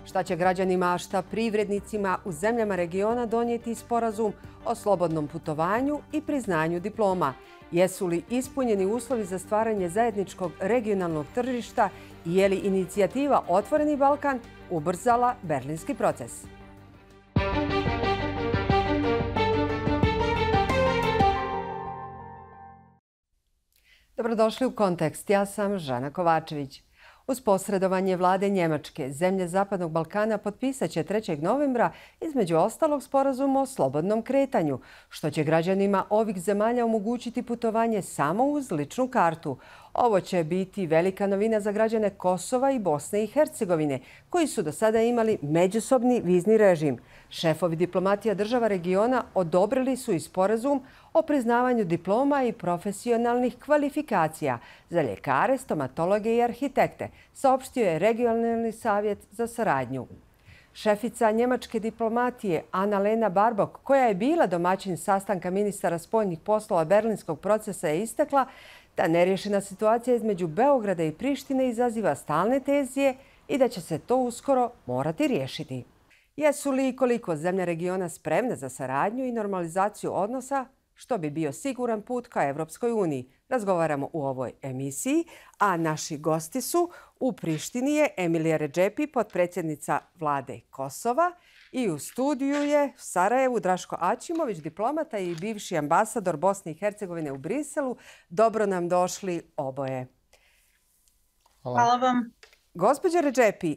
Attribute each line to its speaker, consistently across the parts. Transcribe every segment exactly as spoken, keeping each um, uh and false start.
Speaker 1: Šta će građanima, a šta privrednicima u zemljama regiona donijeti sporazum o slobodnom putovanju i priznanju diploma? Jesu li ispunjeni uslovi za stvaranje zajedničkog regionalnog tržišta i je li inicijativa Otvoreni Balkan ubrzala berlinski proces? Dobrodošli u Kontekst. Ja sam Žana Kovačević. Uz posredovanje vlade Njemačke, zemlje Zapadnog Balkana potpisat će trećeg novembra između ostalog sporazum o slobodnom kretanju, što će građanima ovih zemalja omogućiti putovanje samo uz ličnu kartu. Ovo će biti velika novina za građane Kosova i Bosne i Hercegovine, koji su do sada imali međusobni vizni režim. Šefovi diplomatija država regiona odobrili su i sporazum o priznavanju diploma i profesionalnih kvalifikacija za ljekare, stomatologe i arhitekte, saopštio je Regionalni savjet za saradnju. Šefica njemačke diplomatije Anna-Lena Baerbock, koja je bila domaćin sastanka ministara spoljnih poslova berlinskog procesa, je istakla da neriješena situacija između Beograda i Prištine izaziva stalne tenzije i da će se to uskoro morati riješiti. Jesu li i koliko zemlje regiona spremne za saradnju i normalizaciju odnosa, što bi bio siguran put ka Evropskoj uniji? Razgovaramo u ovoj emisiji, a naši gosti su: u Prištini je Emilija Redžepi, potpredsjednica vlade Kosova, i u studiju je u Sarajevu Draško Aćimović, diplomata i bivši ambasador Bosne i Hercegovine u Briselu. Dobro nam došli oboje.
Speaker 2: Hvala,
Speaker 3: Hvala vam.
Speaker 1: Gospođa Redžepi,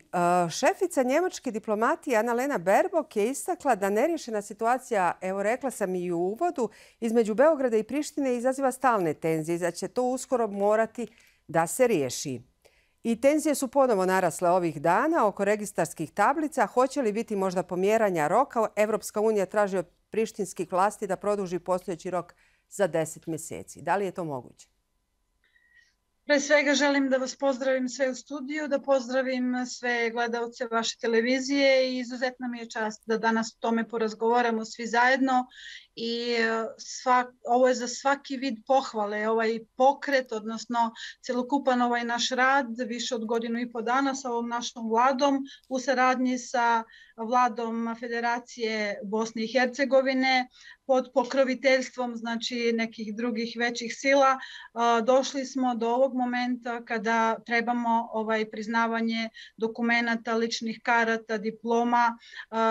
Speaker 1: šefica njemačke diplomatije Anna-Lena Baerbock je istakla da neriješena situacija, evo rekla sam i u uvodu, između Beograda i Prištine izaziva stalne tenzije, da će to uskoro morati da se riješi. I tenzije su ponovo narasle ovih dana oko registarskih tablica. Hoće li biti možda pomjeranja roka? Evropska unija traži od prištinskih vlasti da produži postojeći rok za deset mjeseci. Da li je to moguće?
Speaker 3: Pre svega želim da vas pozdravim sve u studiju, da pozdravim sve gledalce vaše televizije i izuzetna mi je čast da danas o tome porazgovaramo svi zajedno. I svak, ovo je za svaki vid pohvale, ovaj pokret, odnosno celokupan ovaj naš rad, više od godinu i po dana sa ovom našom vladom u saradnji sa vladom Federacije Bosne i Hercegovine pod pokroviteljstvom znači nekih drugih većih sila. Došli smo do ovog momenta kada trebamo ovaj priznavanje dokumenata, ličnih karata, diploma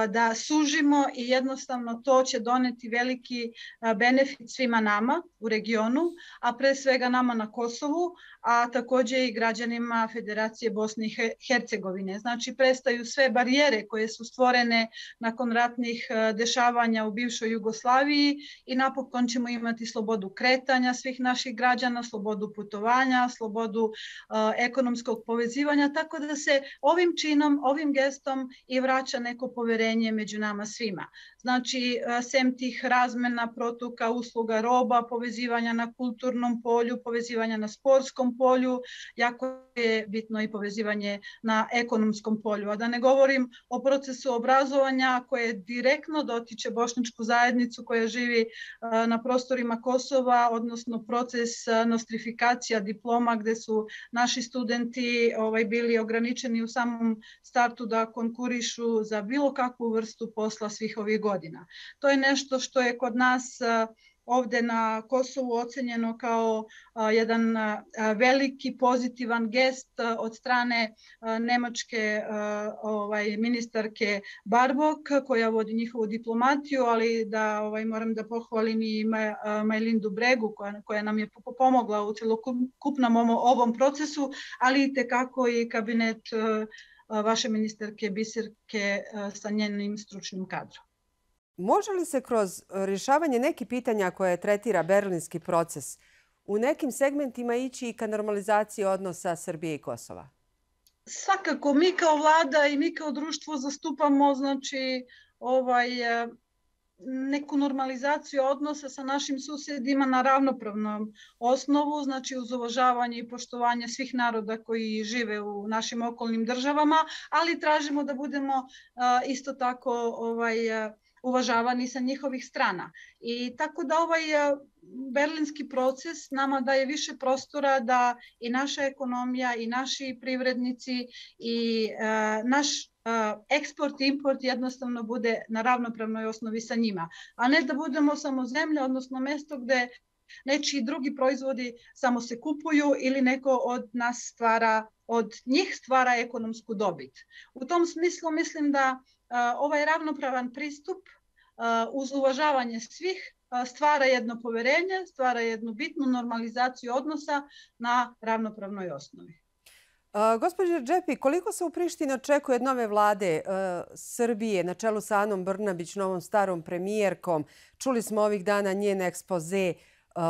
Speaker 3: da sužimo i jednostavno to će doneti veliki benefit svima nama u regionu, a pre svega nama na Kosovu, a također i građanima Federacije Bosne i Hercegovine. Znači, prestaju sve barijere koje su stvorene nakon ratnih dešavanja u bivšoj Jugoslaviji i napokon ćemo imati slobodu kretanja svih naših građana, slobodu putovanja, slobodu uh, ekonomskog povezivanja, tako da se ovim činom, ovim gestom i vraća neko poverenje među nama svima. Znači, uh, sem tih razmena, protoka, usluga, roba, povezivanja na kulturnom polju, povezivanja na sportskom polju, jako je bitno i povezivanje na ekonomskom polju. A da ne govorim o procesu obrazovanja koje direktno dotiče bošnjačku zajednicu koja živi na prostorima Kosova, odnosno proces nostrifikacija diploma gdje su naši studenti ovaj, bili ograničeni u samom startu da konkurišu za bilo kakvu vrstu posla svih ovih godina. To je nešto što je kod nas ovdje na Kosovu ocenjeno kao a, jedan a, veliki pozitivan gest a, od strane a, nemačke a, ovaj, ministarke Baerbock koja vodi njihovu diplomatiju, ali da ovaj, moram da pohvalim i Majlindu Bregu koja, koja nam je pomogla u celokupnom ovom procesu, ali i tekako i kabinet a, vaše ministarke Biserke a, sa njenim stručnim kadrom.
Speaker 1: Može li se kroz rješavanje nekih pitanja koje tretira berlinski proces u nekim segmentima ići i ka normalizaciji odnosa Srbije i Kosova?
Speaker 3: Svakako, mi kao vlada i mi kao društvo zastupamo znači, ovaj, neku normalizaciju odnosa sa našim susjedima na ravnopravnom osnovu, znači uz uvažavanje i poštovanje svih naroda koji žive u našim okolnim državama, ali tražimo da budemo uh, isto tako ovaj, uh, uvažavani sa njihovih strana. I tako da ovaj berlinski proces nama daje više prostora da i naša ekonomija i naši privrednici i uh, naš eksport i import jednostavno bude na ravnopravnoj osnovi sa njima, a ne da budemo samo zemlja, odnosno mjesto gdje nečiji drugi proizvodi samo se kupuju ili neko od nas stvara, od njih stvara ekonomsku dobit. U tom smislu mislim da ovaj ravnopravan pristup uz uvažavanje svih stvara jedno povjerenje, stvara jednu bitnu normalizaciju odnosa na ravnopravnoj osnovi.
Speaker 1: Uh, Gospođo Džepi, koliko se u Prištini očekuje od nove vlade uh, Srbije na čelu sa Anom Brnabić, novom starom premijerkom? Čuli smo ovih dana njen ekspoze. Uh,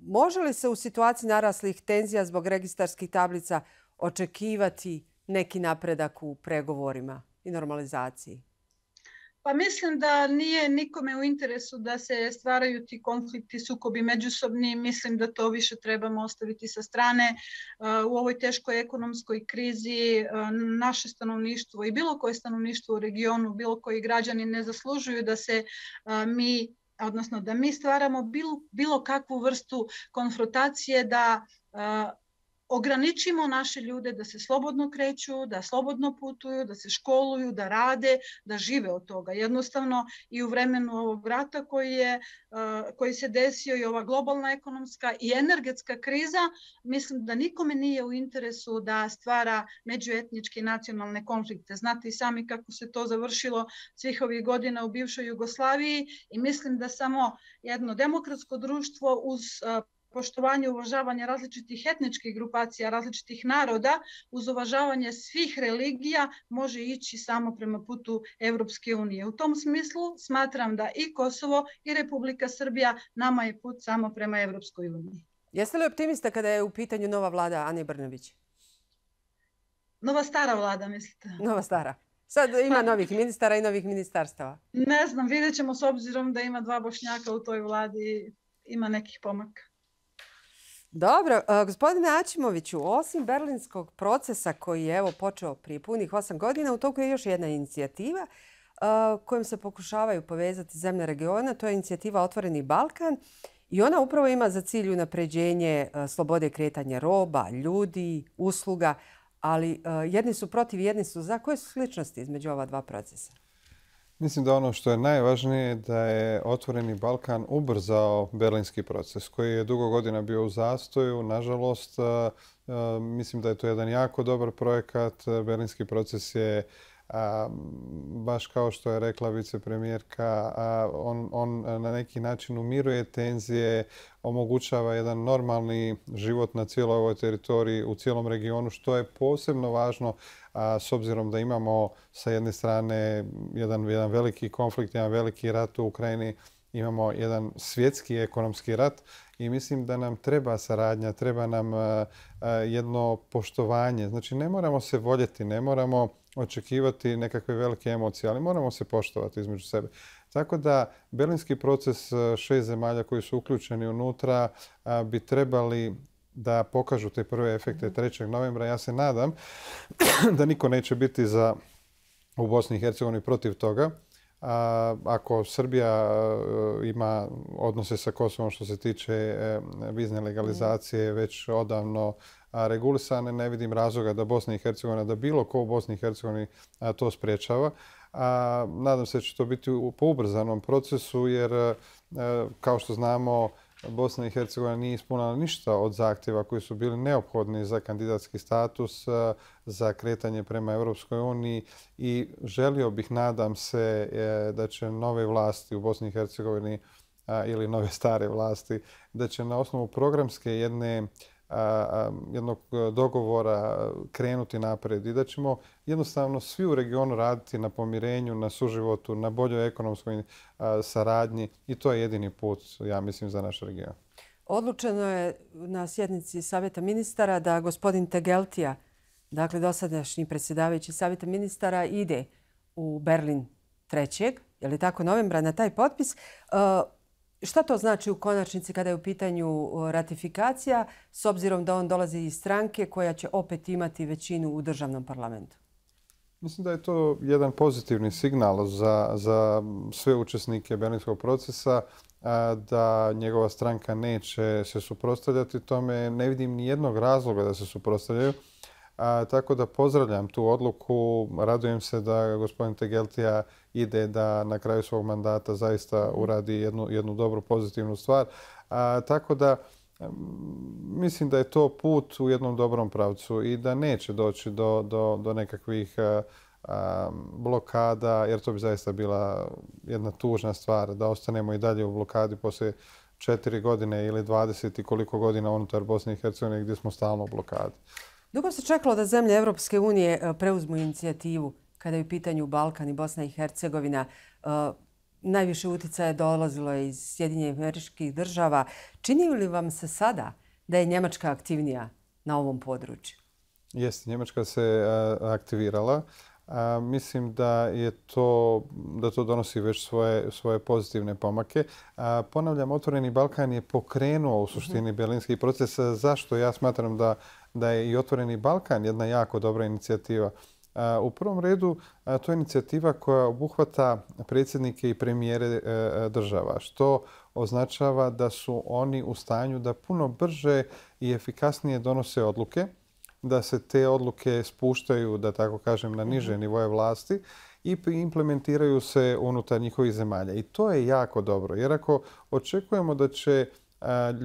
Speaker 1: može li se u situaciji naraslih tenzija zbog registarskih tablica očekivati neki napredak u pregovorima i normalizaciji?
Speaker 3: Pa mislim da nije nikome u interesu da se stvaraju ti konflikti, sukobi međusobni. Mislim da to više trebamo ostaviti sa strane. U ovoj teškoj ekonomskoj krizi naše stanovništvo i bilo koje stanovništvo u regionu, bilo koji građani ne zaslužuju da se mi, odnosno da mi stvaramo bilo, bilo kakvu vrstu konfrontacije, da ograničimo naše ljude da se slobodno kreću, da slobodno putuju, da se školuju, da rade, da žive od toga. Jednostavno i u vremenu ovog rata koji, je, koji se desio i ova globalna ekonomska i energetska kriza, mislim da nikome nije u interesu da stvara međuetničke i nacionalne konflikte. Znate i sami kako se to završilo svih ovih godina u bivšoj Jugoslaviji i mislim da samo jedno demokratsko društvo uz poštovanje i uvažavanje različitih etničkih grupacija, različitih naroda, uz uvažavanje svih religija može ići samo prema putu Evropske unije. U tom smislu smatram da i Kosovo i Republika Srbija nama je put samo prema Evropskoj uniji.
Speaker 1: Jeste li optimista kada je u pitanju nova vlada Ane Brnabić?
Speaker 3: Nova stara vlada, mislite?
Speaker 1: Nova stara. Sad ima novih ministara i novih ministarstava.
Speaker 3: Ne znam, vidjet ćemo s obzirom da ima dva Bošnjaka u toj vladi, ima nekih pomaka.
Speaker 1: Dobro, gospodine Aćimoviću, osim berlinskog procesa koji je evo počeo prije punih osam godina, u toku je još jedna inicijativa kojom se pokušavaju povezati zemlje regiona. To je inicijativa Otvoreni Balkan i ona upravo ima za cilj unapređenje slobode kretanja roba, ljudi, usluga, ali jedni su protiv, jedni su za. Koje su sličnosti između ova dva procesa?
Speaker 2: Mislim da ono što je najvažnije da je Otvoreni Balkan ubrzao berlinski proces koji je dugo godina bio u zastoju. Nažalost, mislim da je to jedan jako dobar projekat. Berlinski proces je, baš kao što je rekla vicepremijerka, on, on na neki način umiruje tenzije, omogućava jedan normalni život na cijeloj ovoj teritoriji, u cijelom regionu, što je posebno važno a, s obzirom da imamo sa jedne strane jedan, jedan veliki konflikt, jedan veliki rat u Ukrajini, imamo jedan svjetski ekonomski rat i mislim da nam treba saradnja, treba nam a, a, jedno poštovanje. Znači ne moramo se voljeti, ne moramo očekivati nekakve velike emocije, ali moramo se poštovati između sebe. Tako da berlinski proces šest zemalja koji su uključeni unutra bi trebali da pokažu te prve efekte trećeg novembra. Ja se nadam da niko neće biti za, u Bosni i Hercegovini protiv toga. A, ako Srbija ima odnose sa Kosovom što se tiče vizne legalizacije već odavno regulisane, ne vidim razloga da Bosna i Hercegovina, da bilo ko u Bosni i Hercegovini to spriječava. A, nadam se da će to biti po ubrzanom procesu jer, kao što znamo, Bosna i Hercegovina nije ispunila ništa od zahtjeva koji su bili neophodni za kandidatski status, za kretanje prema Europskoj uniji i želio bih, nadam se, da će nove vlasti u Bosni i Hercegovini ili nove stare vlasti, da će na osnovu programske jedne jednog dogovora krenuti napred i da ćemo jednostavno svi u regionu raditi na pomirenju, na suživotu, na boljoj ekonomskoj saradnji i to je jedini put, ja mislim, za naš region.
Speaker 1: Odlučeno je na sjednici Savjeta ministara da gospodin Tegeltija, dakle dosadašnji predsjedavajući Savjeta ministara, ide u Berlin trećeg, je li tako, novembra na taj potpis. Šta to znači u konačnici kada je u pitanju ratifikacija, s obzirom da on dolazi iz stranke koja će opet imati većinu u državnom parlamentu?
Speaker 2: Mislim da je to jedan pozitivni signal za, za sve učesnike berlinskog procesa, da njegova stranka neće se suprotstavljati tome. Ne vidim ni jednog razloga da se suprotstavljaju. A, tako da pozdravljam tu odluku. Radujem se da gospodin Tegeltija ide da na kraju svog mandata zaista uradi jednu, jednu dobru pozitivnu stvar. A, tako da mislim da je to put u jednom dobrom pravcu i da neće doći do, do, do nekakvih a, a, blokada, jer to bi zaista bila jedna tužna stvar da ostanemo i dalje u blokadi poslije četiri godine ili dvadeset i koliko godina unutar Bosne i Hercegovine gdje smo stalno u blokadi.
Speaker 1: Dugo se čekalo da zemlje Evropske unije preuzmu inicijativu kada je u pitanju Balkan i Bosna i Hercegovina. Najviše uticaja dolazilo je iz Sjedinjenih Američkih Država. Čini li vam se sada da je Njemačka aktivnija na ovom području?
Speaker 2: Jeste, Njemačka se aktivirala. A, mislim da je to, da to donosi već svoje, svoje pozitivne pomake. A, ponavljam, Otvoreni Balkan je pokrenuo u suštini berlinski proces. Zašto? Ja smatram da, da je i Otvoreni Balkan jedna jako dobra inicijativa. A, u prvom redu, a, to je inicijativa koja obuhvata predsjednike i premijere e, država, što označava da su oni u stanju da puno brže i efikasnije donose odluke, da se te odluke spuštaju, da tako kažem, na niže nivoje vlasti i implementiraju se unutar njihovih zemalja. I to je jako dobro, jer ako očekujemo da će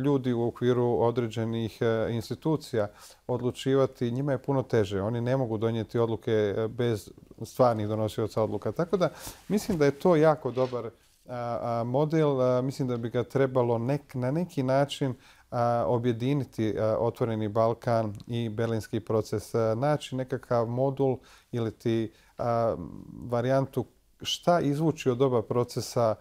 Speaker 2: ljudi u okviru određenih institucija odlučivati, njima je puno teže. Oni ne mogu donijeti odluke bez stvarnih donosioca odluka. Tako da mislim da je to jako dobar model. Mislim da bi ga trebalo nek, na neki način objediniti Otvoreni Balkan i berlinski proces, naći nekakav modul ili ti varijantu šta izvući od oba procesa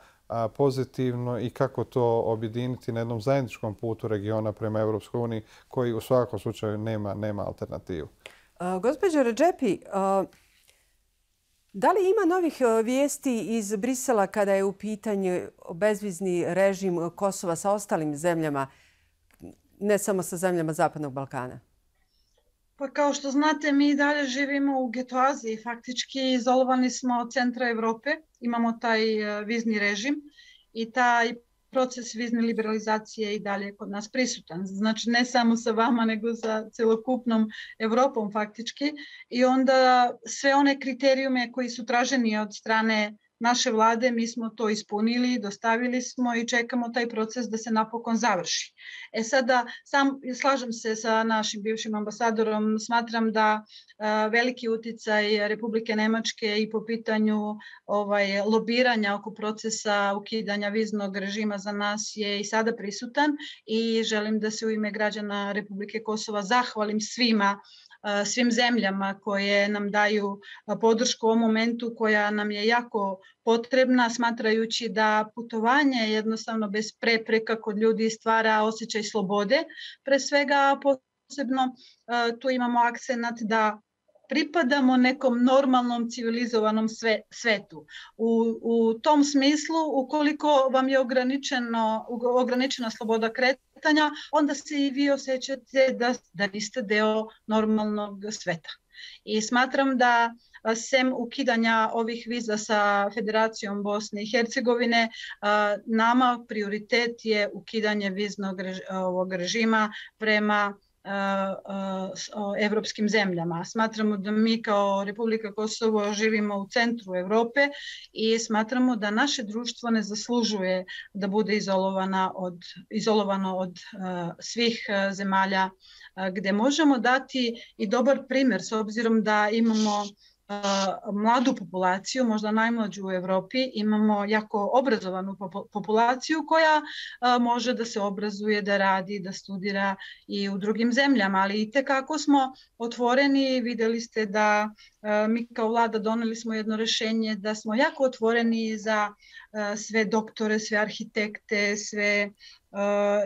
Speaker 2: pozitivno i kako to objediniti na jednom zajedničkom putu regiona prema Europskoj uniji koji u svakom slučaju nema, nema alternativu.
Speaker 1: Gospođo Redžepi, da li ima novih vijesti iz Brisela kada je u pitanju bezvizni režim Kosova sa ostalim zemljama, ne samo sa zemljama Zapadnog Balkana?
Speaker 3: Pa kao što znate, mi dalje živimo u getoaziji. Faktički izolovani smo od centra Evrope. Imamo taj vizni režim i taj proces vizne liberalizacije i dalje kod nas prisutan. Znači ne samo sa vama, nego sa celokupnom Evropom faktički. I onda sve one kriterijume koji su traženi od strane naše vlade, mi smo to ispunili, dostavili smo i čekamo taj proces da se napokon završi. E sada, sam, slažem se sa našim bivšim ambasadorom, smatram da a, veliki uticaj Republike Nemačke i po pitanju ovaj, lobiranja oko procesa ukidanja viznog režima za nas je i sada prisutan i želim da se u ime građana Republike Kosova zahvalim svima, svim zemljama koje nam daju podršku u ovom momentu koja nam je jako potrebna, smatrajući da putovanje jednostavno bez prepreka kod ljudi stvara osjećaj slobode. Pre svega posebno tu imamo akcenat da pripadamo nekom normalnom civilizovanom sve, svetu. U, u tom smislu, ukoliko vam je ograničeno, ograničena sloboda kretanja, onda se i vi osjećate da, da niste deo normalnog sveta. I smatram da sem ukidanja ovih viza sa Federacijom Bosne i Hercegovine, nama prioritet je ukidanje viznog ovog režima prema evropskim zemljama. Smatramo da mi kao Republika Kosovo živimo u centru Evrope i smatramo da naše društvo ne zaslužuje da bude izolovana od, izolovano od uh, svih uh, zemalja uh, gde možemo dati i dobar primjer s obzirom da imamo mladu populaciju, možda najmlađu u Evropi, imamo jako obrazovanu populaciju koja može da se obrazuje, da radi, da studira i u drugim zemljama, ali i tekako smo otvoreni, videli ste da mi kao vlada doneli smo jedno rešenje da smo jako otvoreni za sve doktore, sve arhitekte, sve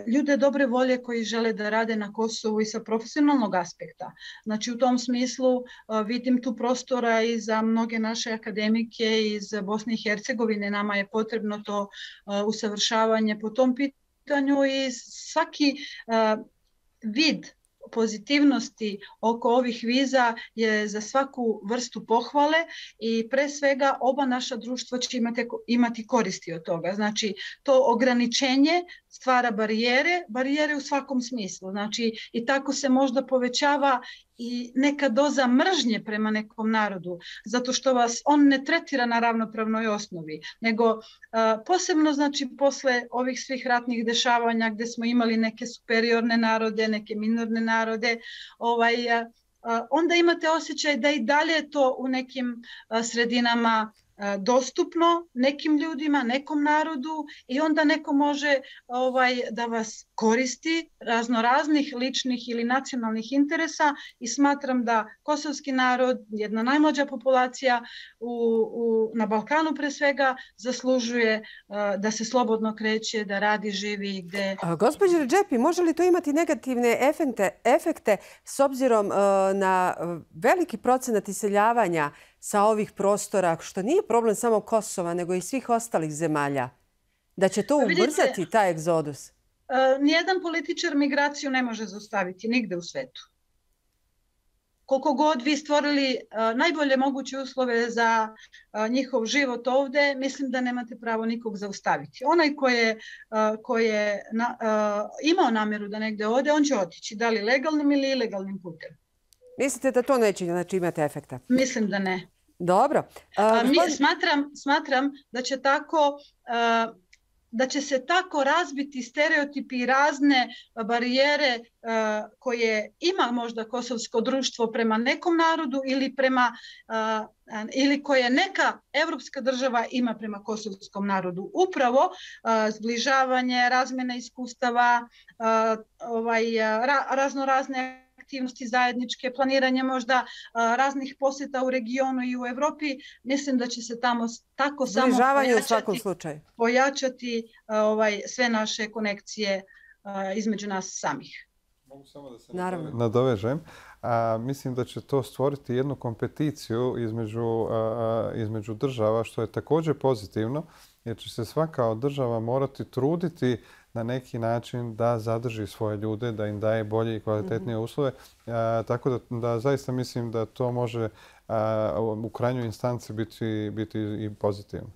Speaker 3: ljude dobre volje koji žele da rade na Kosovu i sa profesionalnog aspekta. Znači u tom smislu vidim tu prostora i za mnoge naše akademike iz Bosne i Hercegovine. Nama je potrebno to usavršavanje po tom pitanju i svaki vid pozitivnosti oko ovih viza je za svaku vrstu pohvale i pre svega oba naša društva će imati, imati koristi od toga. Znači to ograničenje stvara barijere, barijere u svakom smislu. Znači, i tako se možda povećava i neka doza mržnje prema nekom narodu, zato što vas on ne tretira na ravnopravnoj osnovi, nego uh, posebno, znači, posle ovih svih ratnih dešavanja gde smo imali neke superiorne narode, neke minorne narode, ovaj, uh, onda imate osjećaj da i dalje to u nekim uh, sredinama dostupno nekim ljudima, nekom narodu i onda neko može ovaj, da vas koristi raznoraznih ličnih ili nacionalnih interesa i smatram da kosovski narod, jedna najmlađa populacija u, u, na Balkanu pre svega, zaslužuje uh, da se slobodno kreće, da radi, živi gde...
Speaker 1: Gospođo Redžepi, može li to imati negativne efekte, efekte s obzirom uh, na veliki procenat iseljavanja sa ovih prostora, što nije problem samo Kosova, nego i svih ostalih zemalja? Da će to ubrzati Vidite, taj egzodus?
Speaker 3: Uh, nijedan političar migraciju ne može zaustaviti nigde u svetu. Koliko god vi stvorili uh, najbolje moguće uslove za uh, njihov život ovde, mislim da nemate pravo nikog zaustaviti. Onaj ko je, uh, ko je na, uh, imao namjeru da negde ode, on će otići, da li legalnim ili ilegalnim putem.
Speaker 1: Mislite da to neće znači, imati efekta?
Speaker 3: Mislim da ne.
Speaker 1: Dobro.
Speaker 3: Uh, A, mi, gospodin... smatram, smatram da će tako... Uh, da će se tako razbiti stereotipi i razne barijere uh, koje ima možda kosovsko društvo prema nekom narodu ili prema uh, ili koje neka evropska država ima prema kosovskom narodu. Upravo uh, zbližavanje, razmjena iskustava, uh, ovaj, ra, razno razne aktivnosti zajedničke, planiranje možda uh, raznih posjeta u regionu i u Evropi, mislim da će se tamo tako samo
Speaker 1: pojačati, u svakom slučaju.
Speaker 3: pojačati uh, ovaj, sve naše konekcije uh, između nas samih.
Speaker 2: Mogu samo da se Naravno. nadovežem. A, mislim da će to stvoriti jednu kompeticiju između, a, između država, što je također pozitivno, jer će se svaka od država morati truditi na neki način da zadrži svoje ljude, da im daje bolje i kvalitetnije uslove. A, tako da, da zaista mislim da to može a, u krajnjoj instanci biti, biti i pozitivno.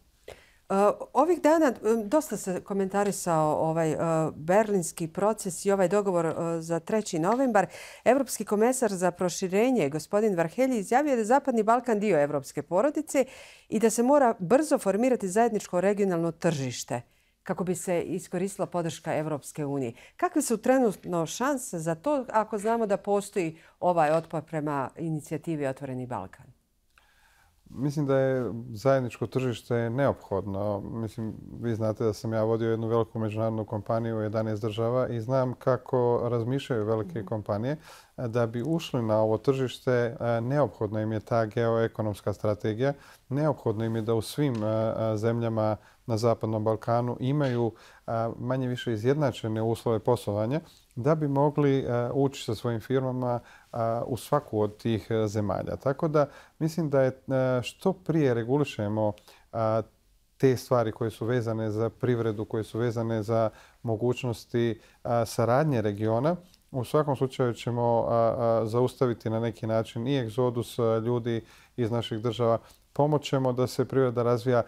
Speaker 1: Ovih dana dosta se komentarisao ovaj berlinski proces i ovaj dogovor za treći novembar. Evropski komesar za proširenje, gospodin Varhelyi, izjavio da je Zapadni Balkan dio evropske porodice i da se mora brzo formirati zajedničko regionalno tržište kako bi se iskoristila podrška Evropske unije. Kakve su trenutno šanse za to ako znamo da postoji ovaj otpor prema inicijativi Otvoreni Balkan?
Speaker 2: Mislim da je zajedničko tržište neophodno. Mislim, vi znate da sam ja vodio jednu veliku međunarodnu kompaniju u jedanaest država i znam kako razmišljaju velike kompanije. Da bi ušli na ovo tržište, neophodno im je ta geoekonomska strategija. Neophodno im je da u svim zemljama na Zapadnom Balkanu imaju manje više izjednačene uslove poslovanja da bi mogli ući sa svojim firmama u svaku od tih zemalja. Tako da mislim da je što prije regulišemo te stvari koje su vezane za privredu, koje su vezane za mogućnosti saradnje regiona, u svakom slučaju ćemo zaustaviti na neki način i egzodus ljudi iz naših država. Pomoćemo da se privreda razvija.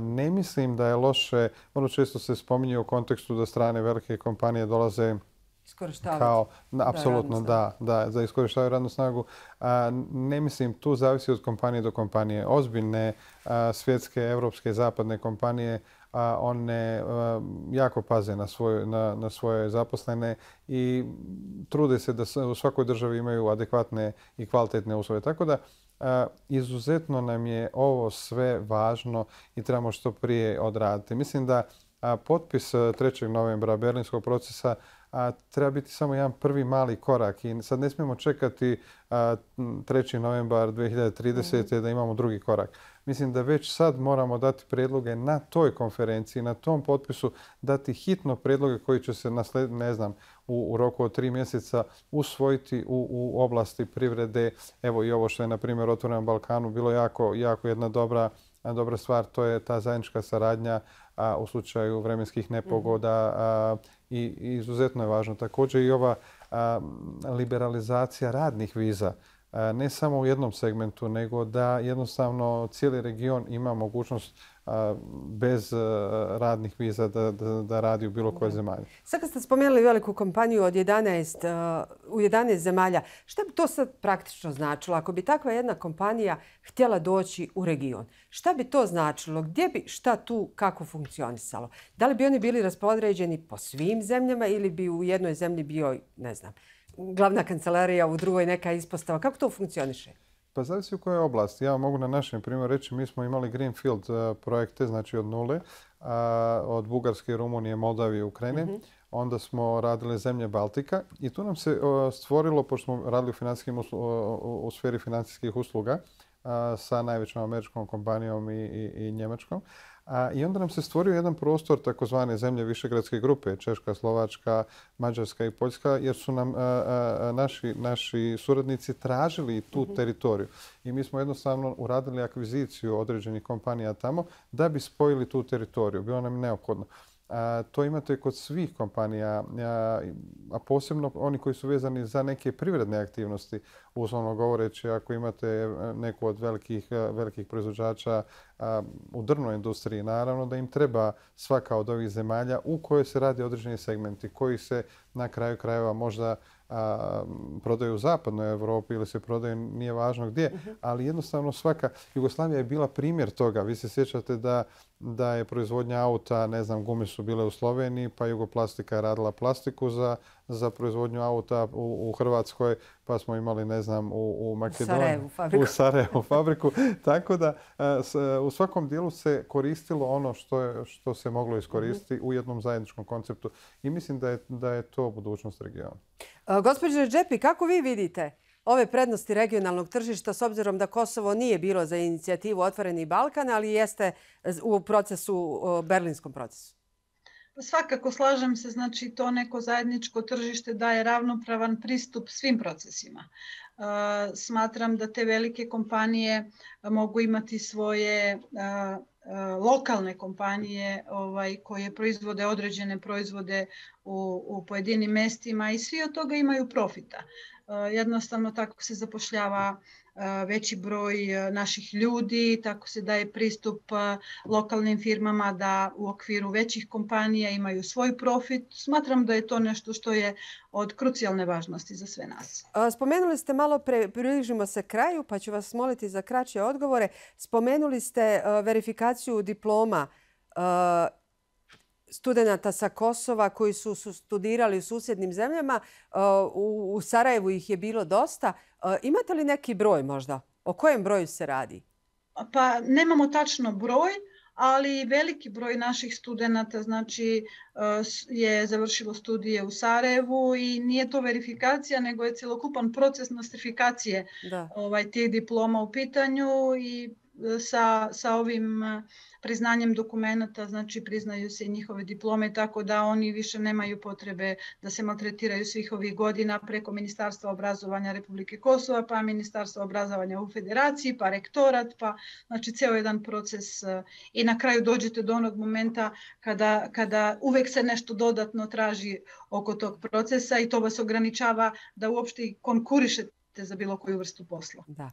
Speaker 2: Ne mislim da je loše, vrlo često se spominje u kontekstu da strane velike kompanije dolaze kao, apsolutno da, da, da iskorištavaju radnu snagu. A, ne mislim, tu zavisi od kompanije do kompanije. Ozbiljne a, svjetske, evropske, zapadne kompanije, a, one a, jako paze na svoje, na, na svoje zaposlene i trude se da u svakoj državi imaju adekvatne i kvalitetne uslove. Tako da a, izuzetno nam je ovo sve važno i trebamo što prije odraditi. Mislim da a, potpis trećeg novembra berlinskog procesa a treba biti samo jedan prvi mali korak i sad ne smijemo čekati a, treći novembar dvije hiljade tridesete. Mm-hmm. da imamo drugi korak. Mislim da već sad moramo dati predloge na toj konferenciji, na tom potpisu, dati hitno predloge koji će se nasled, ne znam, u, u roku od tri mjeseca usvojiti u, u oblasti privrede. Evo i ovo što je, na primjer, Otvorenom Balkanu bilo jako, jako jedna dobra, dobra stvar, to je ta zajednička saradnja a, u slučaju vremenskih nepogoda a, i, i izuzetno je važno. Također i ova a, liberalizacija radnih viza. ne samo u jednom segmentu, nego da jednostavno cijeli region ima mogućnost bez radnih viza da, da, da radi u bilo kojoj zemalji.
Speaker 1: Sad kad ste spomenuli veliku kompaniju od jedanaest, u jedanaest zemalja, šta bi to sad praktično značilo? Ako bi takva jedna kompanija htjela doći u region, šta bi to značilo? Gdje bi šta tu kako funkcionisalo? Da li bi oni bili raspodređeni po svim zemljama ili bi u jednoj zemlji bio, ne znam, glavna kancelarija, u drugoj neka ispostava? Kako to funkcioniše?
Speaker 2: Pa zavisi u kojoj oblasti. Ja mogu na našem primjeru reći, mi smo imali Greenfield projekte, znači od nule, od Bugarske, Rumunije, Moldavije, Ukrajine. Mm-hmm. Onda smo radili zemlje Baltika i tu nam se stvorilo, pošto smo radili u, uslu, u sferi financijskih usluga sa najvećom američkom kompanijom i, i, i njemačkom. A, I onda nam se stvorio jedan prostor takozvane zemlje Višegradske grupe, Češka, Slovačka, Mađarska i Poljska, jer su nam a, a, naši, naši suradnici tražili tu mm-hmm. teritoriju. I mi smo jednostavno uradili akviziciju određenih kompanija tamo da bi spojili tu teritoriju. Bilo nam neophodno. A, to imate kod svih kompanija, a, a posebno oni koji su vezani za neke privredne aktivnosti. Uslovno govoreći, ako imate neku od velikih, velikih proizvođača a, u drvnoj industriji, naravno da im treba svaka od ovih zemalja u kojoj se radi određeni segmenti, koji se na kraju krajeva možda a, prodaju u zapadnoj Europi ili se prodaju nije važno gdje, uh-huh. ali jednostavno svaka Jugoslavija je bila primjer toga. Vi se sjećate da, da je proizvodnja auta, ne znam, gume su bile u Sloveniji, pa Jugoplastika je radila plastiku za, za proizvodnju auta u, u Hrvatskoj, pa smo imali, ne znam, u, u Makedoniji, u Sarajevu fabriku. Tako da s, u svakom dijelu se koristilo ono što, je, što se moglo iskoristiti mm-hmm. u jednom zajedničkom konceptu i mislim da je, da je to budućnost regiona.
Speaker 1: Gospođo Redžepi, kako vi vidite ove prednosti regionalnog tržišta s obzirom da Kosovo nije bilo za inicijativu Otvoreni Balkan, ali jeste u procesu, berlinskom procesu?
Speaker 3: Svakako slažem se, znači to neko zajedničko tržište daje ravnopravan pristup svim procesima. Smatram da te velike kompanije mogu imati svoje lokalne kompanije ovaj, koje proizvode određene proizvode u, u pojedinim mestima i svi od toga imaju profita. Jednostavno tako se zapošljava veći broj naših ljudi, tako se daje pristup lokalnim firmama da u okviru većih kompanija imaju svoj profit. Smatram da je to nešto što je od krucijalne važnosti za sve nas.
Speaker 1: Spomenuli ste malo pre, približimo se kraju, pa ću vas moliti za kraće odgovore. Spomenuli ste verifikaciju diploma studenata sa Kosova koji su, su studirali u susjednim zemljama. U, u Sarajevu ih je bilo dosta. Imate li neki broj možda? O kojem broju se radi?
Speaker 3: Pa nemamo tačno broj, ali veliki broj naših studenata znači, je završilo studije u Sarajevu i nije to verifikacija, nego je cjelokupan proces nostrifikacije ovaj, tih diploma u pitanju i sa, sa ovim priznanjem dokumenta, znači priznaju se njihove diplome, tako da oni više nemaju potrebe da se maltretiraju svih ovih godina preko Ministarstva obrazovanja Republike Kosova, pa Ministarstva obrazovanja u Federaciji, pa rektorat, pa znači ceo jedan proces i na kraju dođete do onog momenta kada, kada uvek se nešto dodatno traži oko tog procesa i to vas ograničava da uopšte konkurišete za bilo koju vrstu posla.
Speaker 1: Da.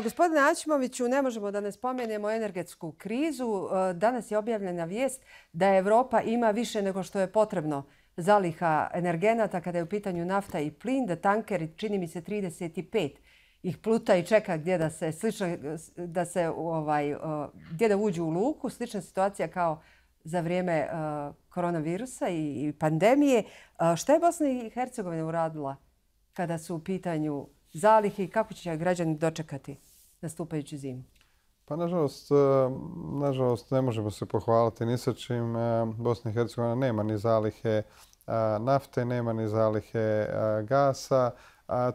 Speaker 1: Gospodine Aćimoviću, ne možemo da ne spomenemo energetsku krizu. Danas je objavljena vijest da Evropa ima više nego što je potrebno zaliha energenata kada je u pitanju nafta i plin, da tankeri, čini mi se trideset pet ih pluta i čeka gdje da se slično, da se ovaj gdje da uđu u luku. Slična situacija kao za vrijeme koronavirusa i pandemije. Šta je Bosna i Hercegovina uradila kada su u pitanju zalihe i kako će građani dočekati nastupajuću zimu?
Speaker 2: Pa nažalost, nažalost ne možemo se pohvaliti ni sa čim. Bosna i Hercegovina nema ni zalihe nafte, nema ni zalihe gasa,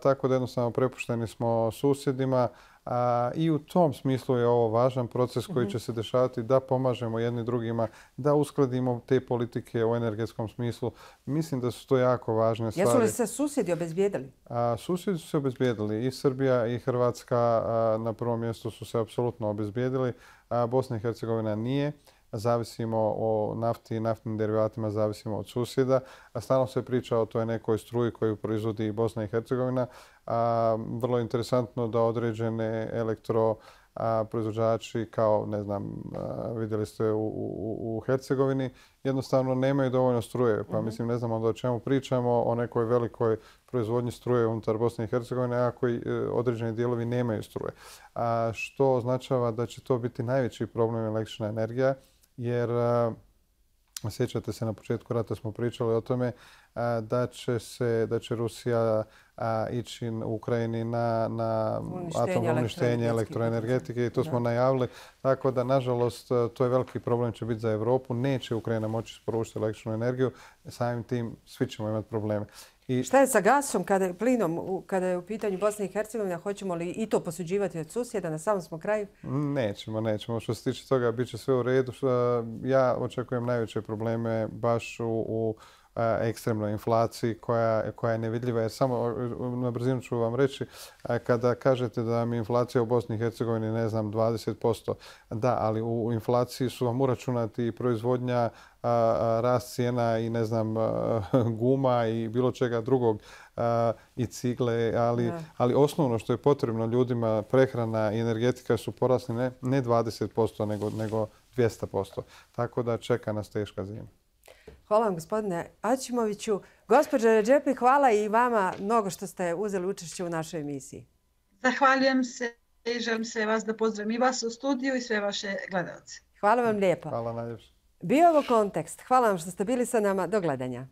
Speaker 2: tako da jednostavno prepušteni smo susjedima. A, I u tom smislu je ovo važan proces koji će se dešavati da pomažemo jedni drugima, da uskladimo te politike u energetskom smislu. Mislim da su to jako važne stvari.
Speaker 1: Jesu li se susjedi obezbijedili?
Speaker 2: A, susjedi su se obezbijedili. I Srbija i Hrvatska a, na prvom mjestu su se apsolutno obezbijedili. A, Bosna i Hercegovina nije. zavisimo o nafti i naftnim derivatima, zavisimo od susjeda. A stalno se priča o toj nekoj struji koju proizvodi i Bosna i Hercegovina. A, vrlo je interesantno da određene elektro a proizvođači kao, ne znam, a, vidjeli ste u, u, u Hercegovini, jednostavno nemaju dovoljno struje. Pa mm-hmm. mislim, ne znam onda o čemu pričamo, o nekoj velikoj proizvodnji struje unutar Bosne i Hercegovine, a koji e, određeni dijelovi nemaju struje. A što označava da će to biti najveći problem električna energija, jer a, sjećate se na početku rata smo pričali o tome a, da će se, da će Rusija a, ići u Ukrajini na, na atomno uništenje elektroenergetike i to smo da. najavili. Tako da, nažalost, to je veliki problem će biti za Europu. Neće Ukrajina moći isporučiti električnu energiju. Samim tim svi ćemo imati probleme.
Speaker 1: I šta je sa gasom, kada je plinom, kada je u pitanju Bosne i Hercegovina? Hoćemo li i to posuđivati od susjeda? Na samom smo kraju?
Speaker 2: Nećemo, nećemo. Što se tiče toga, bit će sve u redu. Ja očekujem najveće probleme baš u, u ekstremnoj inflaciji koja, koja je nevidljiva. Jer samo na brzinu ću vam reći, kada kažete da mi inflacija u Bosni i Hercegovini, ne znam, dvadeset posto, da, ali u inflaciji su vam uračunati i proizvodnja, rast cijena i ne znam, guma i bilo čega drugog i cigle, ali, ali osnovno što je potrebno ljudima, prehrana i energetika su porasli ne, ne dvadeset posto nego, nego dvjesto posto. Tako da čeka nas teška zima.
Speaker 1: Hvala vam, gospodine Aćimoviću. Gospođo Redžepi, hvala i vama mnogo što ste uzeli učešće u našoj emisiji.
Speaker 3: Zahvaljujem se i želim sve vas da pozdravim i vas u studiju i sve vaše gledalce.
Speaker 1: Hvala vam lijepo.
Speaker 2: Hvala najljepše.
Speaker 1: Bio ovo Kontekst. Hvala vam što ste bili sa nama. Do gledanja.